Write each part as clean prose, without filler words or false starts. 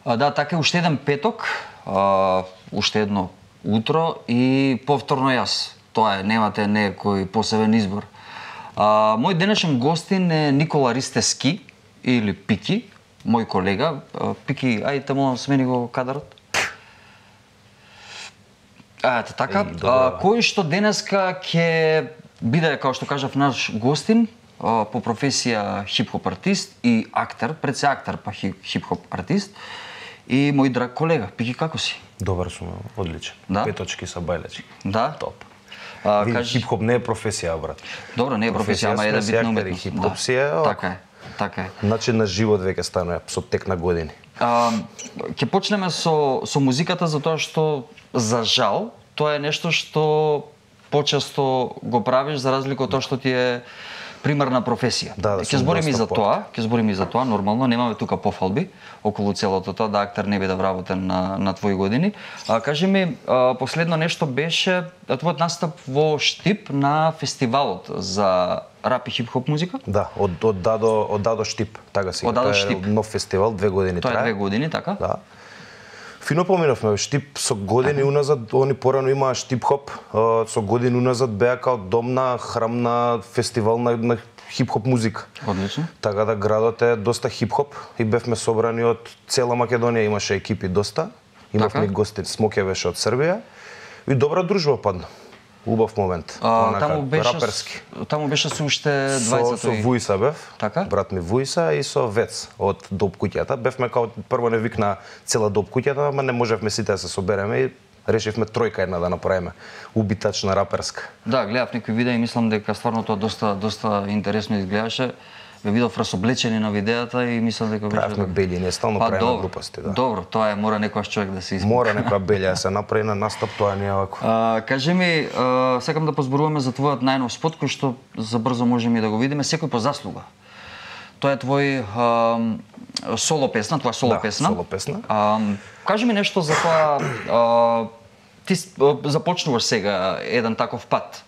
Да, така е, уште еден петок, уште едно утро и повторно јас. Тоа е, немате некој посебен избор. Мој денешен гостин е Никола Ристевски или Пики, мој колега. Пики, ајде молам смени го кадарот. Ето така, кој што денеска ќе биде, како што кажав, наш гостин, по професија хип-хоп артист и актер, пред се актер па хип-хоп артист. И мој драг колега, Пики, како си? Добар сум, одличен. Да? Петочки са бајлечки. Да? Топ. Хип-хоп не е професија, брат. Добро, не е професија, ама е да битна уметност. Хип-хоп си е, така е, така е. Начин на живот веќе станува со тек на години. Ќе почнеме со музиката, затоа што, за жал, тоа е нешто што почесто го правиш за разлика од тоа што ти е примарна професија. Ќе збориме и за тоа, нормално, немаме тука пофалби околу целото тоа, да актер не биде вработен на твои години. Кажи ми, последно нешто беше твојот настап во Штип на фестивалот за рап и хип-хоп музика? Да, од Дадо Штип, така си. Од Дадо Штип. Нов фестивал, 2 години трае. Тоа е 2 години, така? Да. Фино поминавме, Штип со години уназад, они порано имаа Штип-хоп, со години уназад беа као домна, храмна фестивал на хип-хоп музика. Одлично. Така да градот е доста хип-хоп и бевме собрани од цела Македонија, имаше екипи доста. Имавме гостин, Смоке беше од Србија и добра дружба падна. Убав момент. Раперски. Таму беше со уште 20 со Вујса бев. Така? Брат ми Вујса и со Вец од Доп куќата. Бевме као прво не викна цела Доп куќата, ама не можевме сите да се собереме и решивме тројка една да направиме. Убитачна раперска. Да, гледав некои видеа и мислам дека стварно тоа доста интересно изгледаше. Ве видов расоблечени на видеата и мислам дека беше... Правевме бели, не стално правиме глупости, да. Добро, тоа е, мора некојаш човек да се измени. Мора некоја белја да се направи на настап, тоа не е вако. Кажи ми, сакам да позборуваме за твојот најнов спот, кој што забрзо можеме и да го видиме, Секој по заслуга. Тоа е твој соло песна, твоја соло песна. Да, соло песна. Кажи ми нешто за тоа, ти започнуваш сега еден таков пат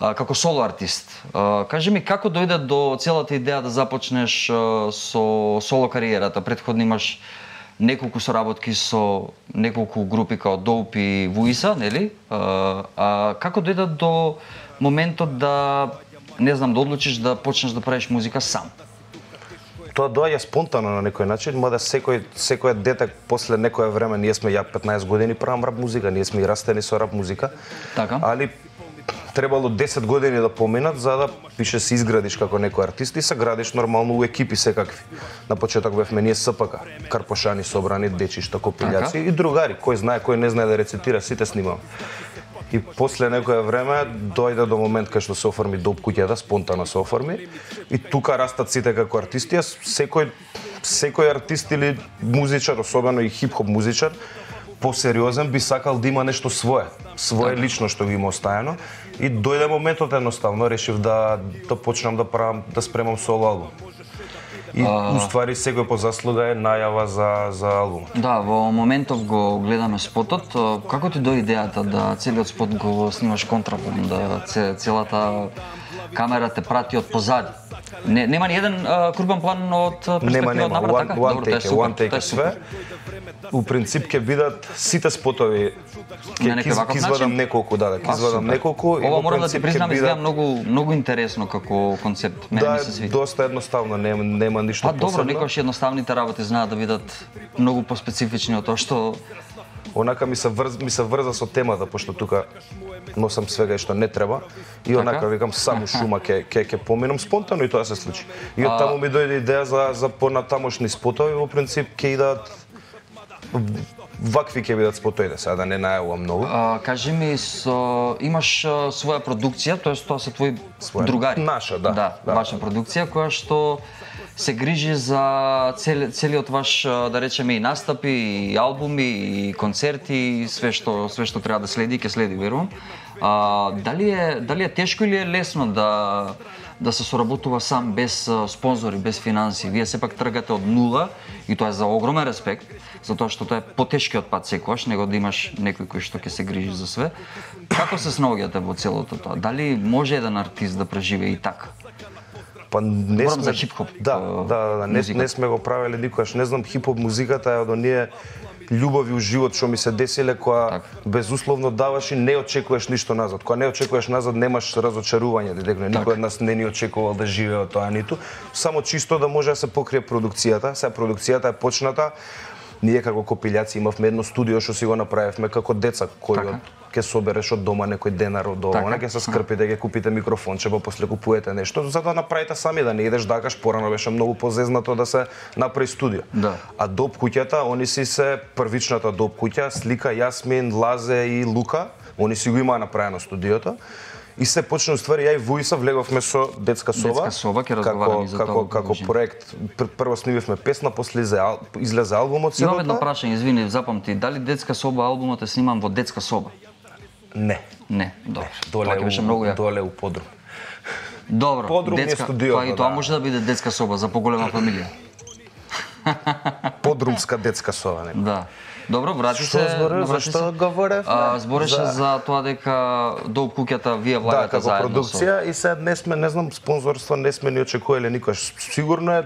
како соло артист. Кажи ми, како дојде до целата идеја да започнеш со соло кариерата? Претходно имаш неколку соработки со неколку групи као Доуп и Вујса, нели? Како дојде до моментот да, не знам, да одлучиш да почнеш да правиш музика сам? Тоа доаѓа спонтано на некој начин, мада секој дете после некое време, ние сме ја 15 години правам рап музика, ние сме и растени со рап музика. Така. Али требало 10 години да поминат за да пише се изградиш како некој артист и се градиш нормално у екипи секакви. На почеток бевме ние СПК, Карпошани собрани, дечишта, копилјаци и другари, кој знае, кој не знае да рецитира, сите снимам. И после некое време дојде до момент кај што се оформи Доп куќата, спонтано се оформи и тука растат сите како артисти. Секој артист или музичар, особено и хип-хоп музичар, посериозен би сакал да има нешто свое лично што го има оставено и дојде моментот едноставно решив да почнам да спремам соло албум. И уствари Секој по заслуга е најава за албум. Да, во моментов го гледаме спотот. Како ти дојде идејата да целиот спот го снимаш контраплан, да целата камера те прати од позади? Нема ни еден крупен план од перспектива од напред, така? One take све. У принцип ќе бидат сите спотови ќе извадам неколку, да, ќе извадам неколку. Ова морам да ти признам, изгледа многу интересно како концепт. Да, доста едноставно, нема ништо посебно. Добро, некогаш едноставните работи знаат да бидат многу поспецифични од тоа што онака ми се врза со темата, пошто тука носам свега што не треба и онака викам само шума ќе поминам спонтано и тоа се случи. И од таму ми дојде идеја за понатамошни спотови, во принцип ќе идат вакви ќе бидат спотоите, сега да не најавувам многу. Кажи ми, имаш своја продукција, тоест тоа се твои другари? Наша, да. Да, ваша продукција која што се грижи за целиот ваш, да речеме, и настапи, и албуми, и концерти, и све што треба да следи, ќе следи, верувам. Дали е тешко или е лесно да се соработува сам без спонзори, без финанси? Вие сепак тргате од нула и тоа е за огромен респект, затоа што тоа е потешкиот пат секогаш, него да имаш некој кој што ќе се грижи за све. Како се снаоѓате во целото тоа? Дали може еден артист да преживее и така? Па не Говорам сме за хип-хоп. Не сме го правеле никогаш. Не знам, хип-хоп музиката е од оние љубови у живот што ми се деселе, која безусловно даваш и не очекуваш ништо назад. Кога не очекуваш назад, немаш разочарување, директно. Никој од нас не ни очекувал да живее од тоа ниту. Само чисто да може да се покрие продукцијата. Сега продукцијата е почната. Ние како копилјаци имавме едно студио што си го направивме како деца, кој ќе собереш од дома некој денар од дома, ќе се скрпите, ќе купите микрофонче, па после купувате нешто, за да направите сами, да не идеш дакаш. Порано беше многу позезнато да се направи студио. А Доп куќата, они си се првичната Доп куќа, Слика, Јасмин, Лазе и Лука, они си го имаа направено студиото. И се почна, уствари, ја и Вуиса влеговме со Детска соба. Детска соба, ќе разговараме за тоа. Како проект. Прво снимивме песна, после излезе албумот. Имам едно прашање, извини, запамти, дали Детска соба албумот е сниман во детска соба? Не. Не, добро. Тоа ќе беше многу јако. Доле у подрум. Добро, подрум детска, студиото, и тоа може да биде детска соба за поголема фамилија. Подрумска детска соба, не. Да. Добро, врати се. Зашто говорев? Збореше за тоа дека Доп куќата вие влагате заедно. Да, како продукција и сега не сме, не знам, спонзорство не сме ни очекувале никош. Сигурно е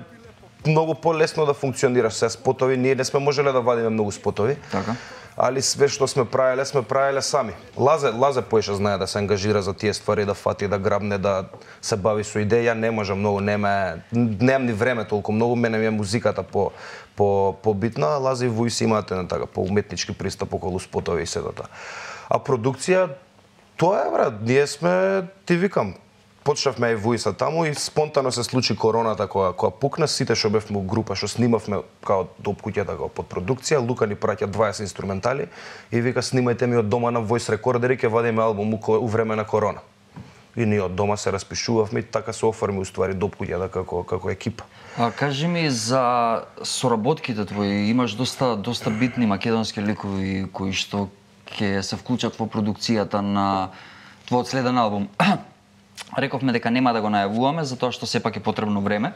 многу полесно да функционираш се спотови, ние не сме можеле да вадиме многу спотови. Така. Али све што сме правеле сами. Лазе поише знае да се ангажира за тие ствари, да фати, да грабне, да се бави со идеја. Ја не можам многу, немам ни време толку многу, мене ми е музиката побитна, а Лазе и Вуис имаат така по уметнички пристап околу спотови и седата. А продукција, тоа е, брат, ние сме, ти викам, почнавме и Вуиса таму и спонтано се случи короната која пукна, сите што бевме група што снимавме као Доп куќата како под продукција, Лука ни праќа 20 инструментали и вика снимајте ми од дома на voice рекордери, ќе вадиме албум у време на корона. И ние од дома се распишувавме и така се оформи уствари Доп куќата како екипа. Кажи ми за соработките твои, имаш доста битни македонски ликови кои што ќе се вклучат во продукцијата на твојот следен албум. Рековме дека нема да го најавуваме затоа што сепак е потребно време.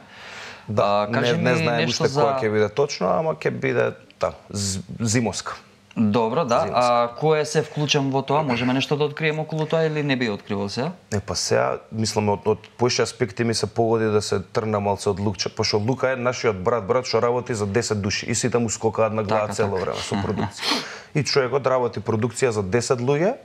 Да, не знаем уште која ќе биде точно, ама ќе биде зимоска. Добро, да. А кој се вклучен во тоа? Можеме нешто да откриеме околу тоа или не би откривал сега? Па сега, мислам, од поише аспекти ми се погоди да се трна малце од Лукче, пошто Лука е нашиот брат што работи за 10 души и сите му скокаат на глава цело време со продукција. И човекот работи продукција за 10 луѓе.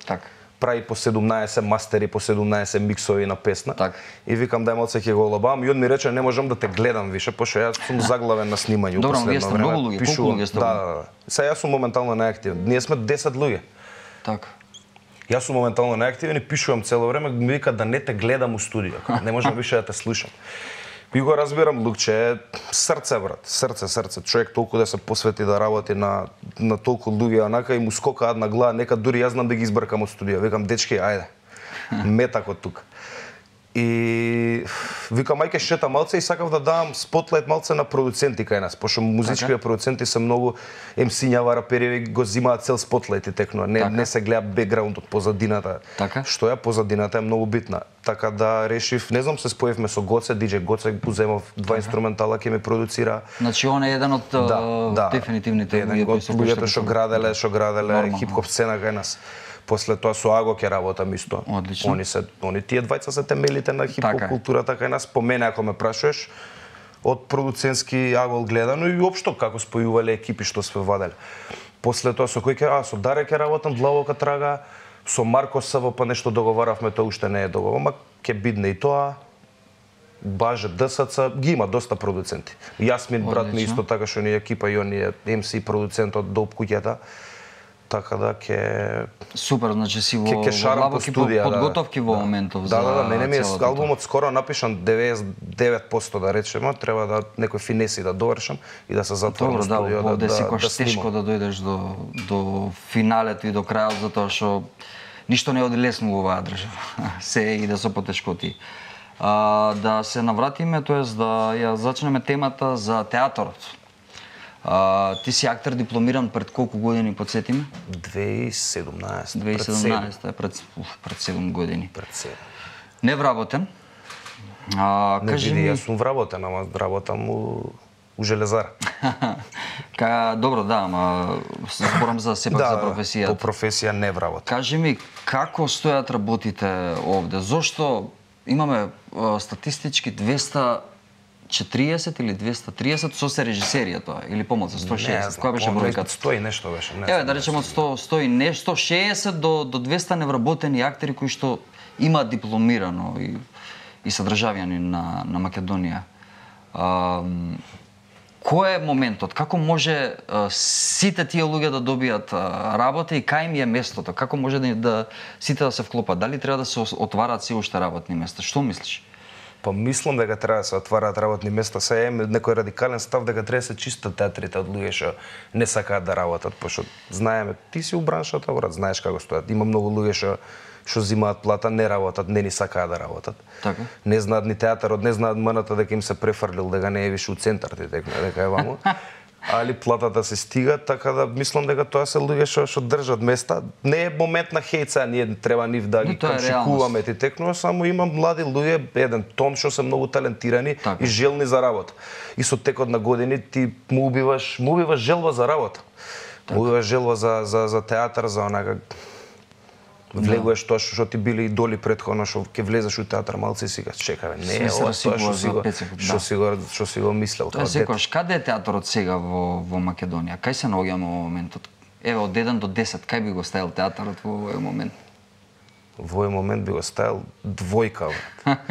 Така. Прави по 17 мастери, по 17 миксови на песна. Так. И викам дај малце ќе го лабавам и он ми рече не можам да те гледам више, пошто јас сум заглавен на снимање. Добро, вие сте многу луѓе, колку луѓе сте? Да. Сега јас сум моментално најактивен. Ние сме 10 луѓе. Така. Јас сум моментално најактивен и пишувам цело време, ми вика да не те гледам у студио, не можам више да те слушам. И го разбирам, Лукче, срце, брат, срце. Човек толку да се посвети да работи на толку луѓе, онака и му скокаат на глава, нека дури јас знам да ги избркам од студио. Викам, дечки, ајде, метак од тука. И викам, ајке шета малце и сакав да давам спотлайт малце на продуценти кај нас, пошто музичките продуценти се многу MC-њава, рапери го зимаат цел спотлайт и текно, не се гледа бекграундот, позадината. Така? Што е позадината е многу битна. Така да решив, не знам, се споевме со Гоце, DJ Гоце, уземав 2 инструментала ќе ме продуцира. Значи он е еден од дефинитивните луѓето што граделе хип-хоп сцена кај нас. После тоа со Аго ќе работам исто. Одлично. Они тие двајца се темелите на хип-хоп културата кај нас. По мене ако ме прашуваш, од продуцентски агол гледано и општо како спојувале екипи што све ваделе. После тоа со кој со Даре ќе работам, Длабока Трага, со Марко СВ па нешто договаравме, тоа уште не е договор, ама ќе бидне и тоа. Баже, ДСЦ, ги има доста продуценти. Јасмин, брат ми исто така што ни екипа и он е MC продуцент од Доп куќата. Така да ќе супер, значи си во длабоки подготовки во моментов за мене ми е албумот скоро напишан 99% да речеме, треба да некои финеси да довршам и да се затворам студио да секогаш тешко да дојдеш до финалето и до крајот затоа што ништо не оди лесно во оваа држава. Се иде со потешкоти. Да се навратиме, тоест да ја зачнеме темата за театарот. Ти си актер дипломиран пред колку години, подсетиме? 2017. 2017, пред 7 години. Пред 7. Не вработен. Кажи ми, јас сум вработен, ама работам у железара. Добро, да, ама зборам за сепак за професијата. По професија не вработен. Кажи ми, како стојат работите овде? Зошто имаме статистички 240 или 230 со се режисерија тоа или помалку 160. Која беше бројката? 100 и нешто беше. Еве да речеме од 100 и нешто 160 до 200 невработени актери кои што имаат дипломирано и се државјани на Македонија. Кој е моментот? Како може сите тие луѓе да добијат работа и кај им е местото? Како може да сите да се вклопат? Дали треба да се отвараат се уште работни места? Што мислиш? Па мислам дека треба да се отвараат работни места. Се е некој радикален став дека треба да се чистат театрите од луѓе што не сакаат да работат, пошто знаеме, ти си у браншата, брат, знаеш како стоат. Има многу луѓе што зимаат плата, не работат, не ни сакаат да работат. Така. Не знаат ни театарот, не знаат МН-то дека им се префрлил, дека не е више у центар, дека е ваму. Али платата се стига, така да мислам дека тоа се луѓе што држат места. Не е момент на хејца, ние треба нив да ги камшикуваме ти текнува, само има млади луѓе, еден тон што се многу талентирани и желни за работа. И со текот на години ти му убиваш желба за работа. Му убиваш желба за театар, за онака влегуваш тоа што ти били идоли претходно, што ќе влезеш у театар малце и си кажеш чекај, не е ова тоа што си го мислел. Тоа секогаш каде е театарот сега во Македонија? Кај се наоѓаме во моментот? Еве од 1 до 10 кај би го ставил театарот во овој момент? Во овој момент би го ставил двојка.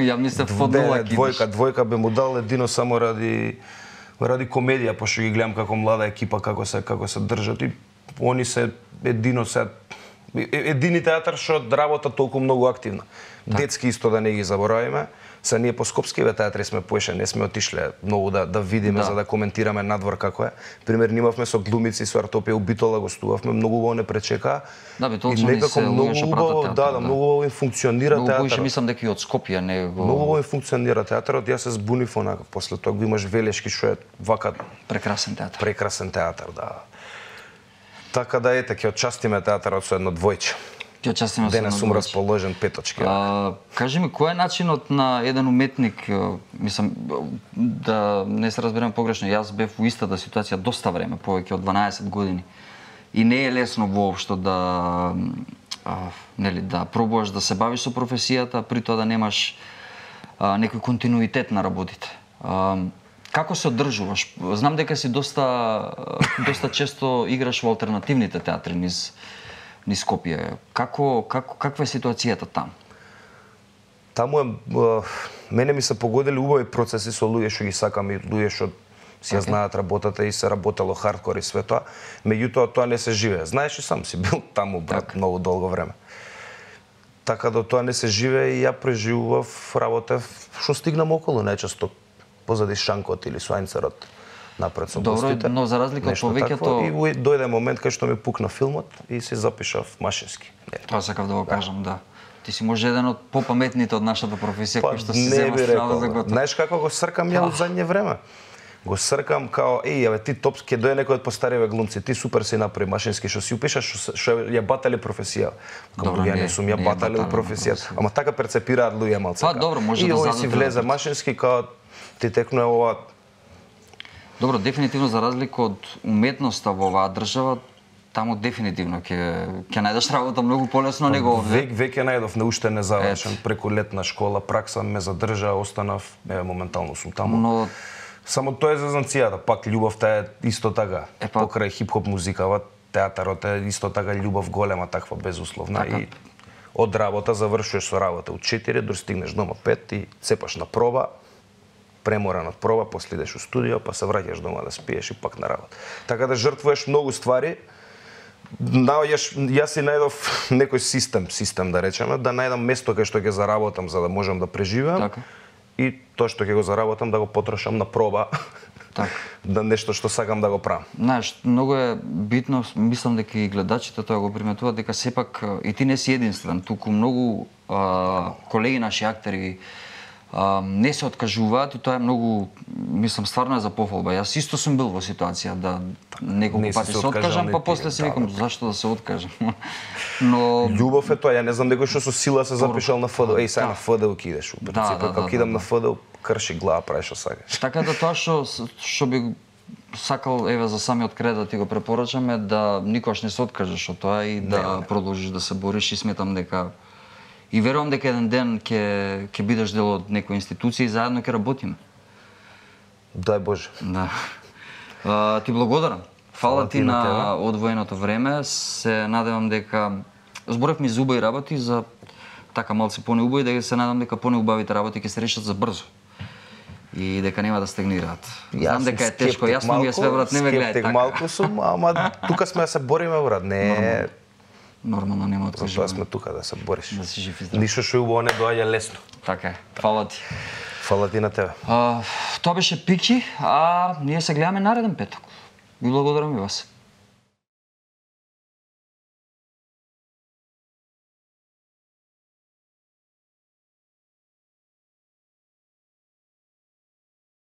Ја мислев од нула кидиш. Двојка би му дал едино само ради комедија, пошто ги гледам како млада екипа како се држат и они се едини театар што работа толку многу активно. Детски исто да не ги заборавиме. Са ние по скопскиве театри сме поише, не сме отишле многу да видиме за да коментираме надвор како е. Пример имавме со глумици со Артопија у Битола гостувавме, многу убаво не пречека. Да, Битолчани се луѓе што пратат театар. Многу убаво им функционира театарот. Многу поише мислам дека и од Скопје не го. Многу убаво им функционира театарот. Јас се збунив онака после тоа го имаш Велешки што е вака прекрасен театар. Прекрасен театар, да. Така да ете, ќе отчастиме театарот со едно двојче. Денес сум расположен петочки. Кажи ми, кој е начинот на еден уметник, мислам, да не се разберем погрешно, јас бев во истата ситуација доста време, повеќе од 12 години. И не е лесно воопшто да пробуваш да се бавиш со професијата, при тоа да немаш некој континуитет на работите. Како се одржуваш? Знам дека си доста често играш во алтернативните театри низ Скопје. Каква е ситуацијата там? Таму мене ми се погодили убави процеси со луѓе што ги сакам и луѓе што си ја знаат работата и се работело хардкор и све тоа. Меѓутоа тоа не се живее. Знаеш и сам си бил таму, брат, многу долго време. Така да тоа не се живее и ја преживував работа што стигнам околу најчесто позади шанкот или слајнцерот напред со гостите. Добро, но за разлика од повеќето... И дојде момент кај што ми пукна филмот и се запишав машински. Тоа сакав да го кажам, да. Ти си може еден од попаметните од нашата професија кој што се зема страва за готово. Знаеш како го сркам ја од задње време? Го сркам као, ти топ, ке дојде некој од постариве глумци, ти супер си направи машински, што си упишаш, што ја батали професија. Добро, ја не сум ја батали професијата. Ама така перцепираат луѓе малце. Па добро, може да зададат. И овој си влезе машински као ти текнува ова. Добро, дефинитивно за разлика од уметноста во оваа држава, таму дефинитивно ќе најдеш работа многу полесно него овде. Веќе најдов уште незавршен, преку летна школа, пракса ме задржа, останав, моментално сум таму. Но само тоа е зезанцијата, пак љубовта е исто така. Покрај хип-хоп музикава, театарот е исто така љубов голема таква безусловна и од работа завршуваш со работа у 4, достигнеш дома 5 и цепаш на проба. Преморан од проба, после идеш у студио, па се враќаш дома да спиеш и пак на работа. Така да жртвуваш многу ствари. Јас си најдов некој систем да речеме, да најдам место кај што ќе заработам за да можам да преживеам. И тоа што ќе го заработам да го потрошам на проба. Да нешто што сакам да го правам. Знаеш, многу е битно, мислам дека и гледачите тоа го приметуваат, дека сепак и ти не си единствен, туку многу колеги наши актери не се откажуваат и тоа е многу, мислам, стварно е за пофалба. Јас исто сум бил во ситуација да неколку пати се откажам, па после си викам зашто да се откажам. Но љубов е тоа, ја не знам некој што со сила се запишал на ФДУ. Сега на ФДУ ќе идеш. Како идам на ФДУ, крши глава, прави што сакаш. Така да тоа што би сакал еве за самиот кред да ти го препорачам е да никогаш не се откажеш од тоа и да продолжиш да се бориш и сметам дека И верувам дека еден ден ќе бидеш дел од некоја институција и заедно ќе работиме. Дај Боже. Да. Ти благодарам. Фала ти на одвоеното време. Се надевам дека зборевме за убави работи, за така малце понеубави, дека се надам дека понеубавите работи ќе се решат за брзо. И дека нема да стагнираат. Знам дека е тешко, јасно ми е све, брат, не ме гледај така. Малку сум, ама тука сме да се бориме, брат, не. Нормално нема откажуваме. Тоа сме тука да се бориш. Да си жив и здрав. Ништо што убаво не доаѓа лесно. Така е. Фала ти. Фала ти на тебе. Тоа беше Пики, а ние се гледаме нареден петок. Ви благодарам и вас.